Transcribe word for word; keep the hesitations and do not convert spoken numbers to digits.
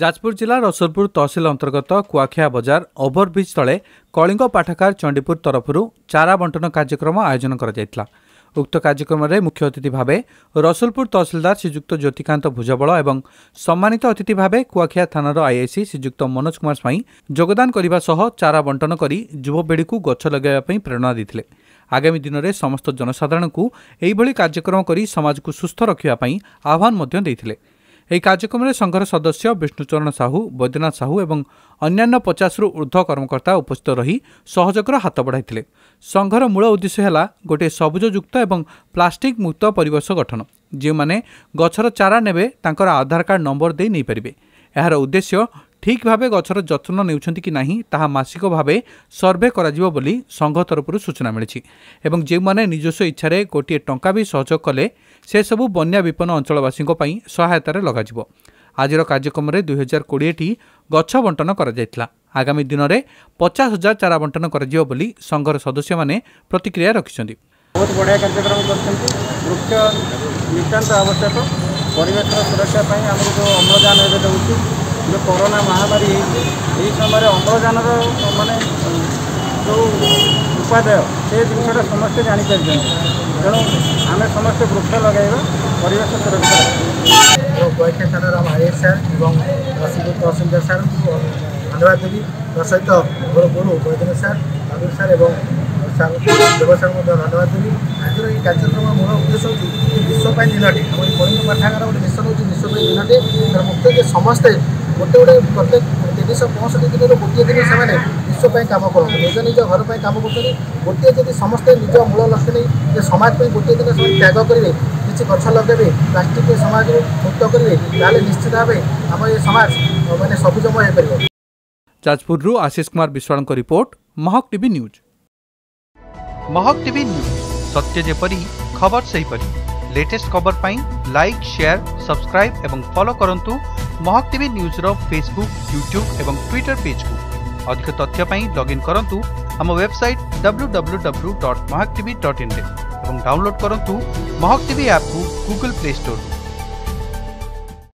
ଯାଜପୁର ଜିଲ୍ଲା ରସୁଲପୁର ତହସିଲ ଅନ୍ତର୍ଗତ କୁଆଖିଆ ବଜାର ଓଭରବ୍ରିଜ୍ ତଳେ କଳିଙ୍ଗ ପାଠାଗାର ଚଣ୍ଡୀପୁର ତରଫରୁ ଚାରା ବଣ୍ଟନ କାର୍ଯ୍ୟକ୍ରମ ଆୟୋଜନ କରାଯାଇଥିଲା। ଉକ୍ତ କାର୍ଯ୍ୟକ୍ରମରେ ମୁଖ୍ୟ ଅତିଥି ଭାବେ ରସୁଲପୁର ତହସିଲଦାର ଶ୍ରୀଯୁକ୍ତ ଜ୍ୟୋତିକାନ୍ତ ଭୁଜବଳ ଏବଂ ସମ୍ମାନିତ ଅତିଥି ଭାବେ କୁଆଖିଆ ଥାନାର ଆଇଆଇସି ଶ୍ରୀଯୁକ୍ତ ମନୋଜ କୁମାର ସ୍ୱାଇଁ ଯୋଗଦାନ କରିବା ସହ ଚାରା ବଣ୍ଟନ କରି ଯୁବପିଢ଼ିକୁ ଗଛ ଲଗାଇବା ପାଇଁ ପ୍ରେରଣା ଦେଇଥିଲେ। ଆଗାମୀ ଦିନରେ ସମସ୍ତ ଜନସାଧାରଣଙ୍କୁ ଏହିଭଳି କାର୍ଯ୍ୟକ୍ରମ କରି ସମାଜକୁ ସୁସ୍ଥ ରଖିବା ପାଇଁ ଆହ୍ୱାନ ମଧ୍ୟ ଦେଇଥିଲେ। ଏହି କାର୍ଯ୍ୟକ୍ରମରେ ସଂଘର ସଦସ୍ୟ ବିଷ୍ଣୁଚରଣ ସାହୁ, ବୈଦ୍ୟନାଥ ସାହୁ ଏବଂ ଅନ୍ୟାନ୍ୟ ପଚାଶରୁ ଉର୍ଦ୍ଧ୍ୱ କର୍ମକର୍ତ୍ତା ଉପସ୍ଥିତ ରହି ସହଯୋଗର ହାତ ବଢ଼ାଇଥିଲେ। ସଂଘର ମୂଳ ଉଦ୍ଦେଶ୍ୟ ହେଲା ଗୋଟିଏ ସବୁଜଯୁକ୍ତ ଏବଂ ପ୍ଲାଷ୍ଟିକ୍ ମୁକ୍ତ ପରିବେଶ ଗଠନ। ଯେଉଁମାନେ ଗଛର ଚାରା ନେବେ, ତାଙ୍କର ଆଧାର କାର୍ଡ଼ ନମ୍ବର ଦେଇ ନେଇପାରିବେ। ଏହାର ଉଦ୍ଦେଶ୍ୟ ଠିକ୍ ଭାବେ ଗଛର ଯତ୍ନ ନେଉଛନ୍ତି କି ନାହିଁ, ତାହା ମାସିକ ଭାବେ ସର୍ଭେ କରାଯିବ ବୋଲି ସଂଘ ତରଫରୁ ସୂଚନା ମିଳିଛି ଏବଂ ଯେଉଁମାନେ ନିଜସ୍ୱ ଇଚ୍ଛାରେ ଗୋଟିଏ ଟଙ୍କା ବି ସହଯୋଗ କଲେ, ସେସବୁ ବନ୍ୟା ବିପନ୍ନ ଅଞ୍ଚଳବାସୀଙ୍କ ପାଇଁ ସହାୟତାରେ ଲଗାଯିବ। ଆଜିର କାର୍ଯ୍ୟକ୍ରମରେ ଦୁଇ ହଜାର କୋଡ଼ିଏଟି ଗଛ ବଣ୍ଟନ କରାଯାଇଥିଲା। ଆଗାମୀ ଦିନରେ ପଚାଶ ହଜାର ଚାରା ବଣ୍ଟନ କରାଯିବ ବୋଲି ସଂଘର ସଦସ୍ୟମାନେ ପ୍ରତିକ୍ରିୟା ରଖିଛନ୍ତି। ବହୁତ ବଢ଼ିଆ କାର୍ଯ୍ୟକ୍ରମ କରିଛନ୍ତି। ବୃକ୍ଷ ନିତାନ୍ତ ଆବଶ୍ୟକ ପରିବେଶର ସୁରକ୍ଷା ପାଇଁ। ଆମକୁ ଯେଉଁ ଅମ୍ଳଜାନ ଏବେ ଦେଉଛି, ଯେଉଁ କରୋନା ମହାମାରୀ ହେଇଛି, ଏହି ସମୟରେ ଅମ୍ଳଜାନର ମାନେ ଯେଉଁ ଉପାଦେୟ, ସେ ଜିନିଷଟା ସମସ୍ତେ ଜାଣିପାରିଛନ୍ତି। ତେଣୁ ଆମେ ସମସ୍ତେ ବୃକ୍ଷ ଲଗାଇବା, ପରିବେଶ ସୁରକ୍ଷା। ଏବଂ କୁଆଖିଆ ଥାନାର ଆମ I sir ଏବଂ ରସୁଲପୁର ତହସିଲଦାର ସାର୍ଙ୍କୁ ଧନ୍ୟବାଦ ଦେବି। ତା ସହିତ ମୋର ଗୁରୁ ବୈଦ୍ୟନାଥ ସାର୍, ନବୀନ ସାର୍ ଏବଂ ସାର୍ ଦେବ ସାର୍ ମଧ୍ୟ ଧନ୍ୟବାଦ ଦେବି। ଆଜିର ଏହି କାର୍ଯ୍ୟକ୍ରମ ମୂଳ ଉଦ୍ଦେଶ୍ୟ ହେଉଛି ଯେ ବିଶ୍ୱ ପାଇଁ ଦିନଟି। ଆମ ଏଇ କଳିଙ୍ଗ ପାଠାଗାର ଗୋଟେ ମିଶନ ହେଉଛି ବିଶ୍ୱ ପାଇଁ ଦିନଟି। ତାର ମୁଖ୍ୟ ଯେ ସମସ୍ତେ ଗୋଟେ ଗୋଟେ ପ୍ରତ୍ୟେକ ତିନିଶହ ପଞ୍ଚଷଠି ଦିନରୁ ଗୋଟିଏ ଦିନ ସେମାନେ ବିଶ୍ୱ ପାଇଁ କାମ କରନ୍ତୁ। ନିଜ ନିଜ ଘର ପାଇଁ କାମ କରୁଛନ୍ତି। ଗୋଟିଏ ଯଦି ସମସ୍ତେ ନିଜ ମୂଳ ଲକ୍ଷ୍ୟ ନେଇ ଯେ ସମାଜ ପାଇଁ ଗୋଟିଏ ଦିନ ସେମାନେ ତ୍ୟାଗ କରିବେ, କିଛି ଗଛ ଲଗାଇବେ, ପ୍ଲାଷ୍ଟିକ୍ ସମାଜରୁ ମୁକ୍ତ କରିବେ, ତାହେଲେ ନିଶ୍ଚିତ ଭାବେ ଆମ ଏ ସମାଜ ମାନେ ସବୁଜମୟ ହେଇପାରିବ। ଯାଜପୁରରୁ ଆଶିଷ କୁମାର ବିଶ୍ୱାଳଙ୍କ report, Mahak TV news. Mahak TV news, ସତ୍ୟ ଯେପରି ଖବର ସେହିପରି। ଲେଟେଷ୍ଟ ଖବର ପାଇଁ ଲାଇକ୍, ସେୟାର, ସବସ୍କ୍ରାଇବ୍ ଏବଂ ଫଲୋ କରନ୍ତୁ ମହକ ଟିଭି ନ୍ୟୁଜ୍ର ଫେସବୁକ୍, ୟୁଟ୍ୟୁବ୍ ଏବଂ ଟ୍ୱିଟର ପେଜ୍କୁ। ଅଧିକ ତଥ୍ୟ ପାଇଁ ଲଗ୍ଇନ୍ କରନ୍ତୁ ଆମ website W W W dot Mahak TV dot ଇନ୍ରେ ଏବଂ ଡାଉନଲୋଡ୍ କରନ୍ତୁ ମହକ ଟିଭି ଆପ୍କୁ ଗୁଗଲ୍ ପ୍ଲେ ଷ୍ଟୋରରୁ।